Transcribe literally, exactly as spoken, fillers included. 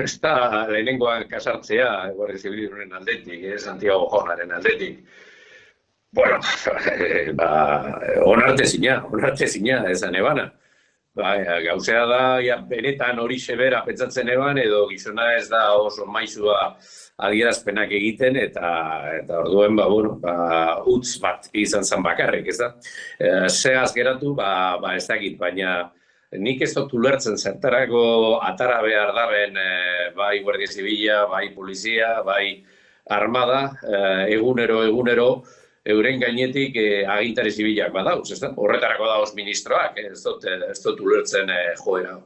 Ez da lehenengoan kasartzea, Guardia Zibilaren aldetik, eh, Santiago Jornaren aldetik. Bueno, ba, onartezina, onartezina, esan ebana. Ba, gauzea da, ja, benetan hori sebera pentsatzen eban, edo gizona ez da oso maizua adierazpenak egiten, eta eta orduen, ba, bueno, ba, utz bat izan zen bakarrik, ez da? E, Segaz geratu, ba, ba ez dakit, baina nik ez dut ulertzen zertarako atara behar daben e, bai Guardia Zibila, bai polizia, bai armada, e, egunero, egunero, euren gainetik eh, agintari zibilak badauz, ez da? Horretarako dauz ministroak, ez dut, ez dut ulertzen eh, joera.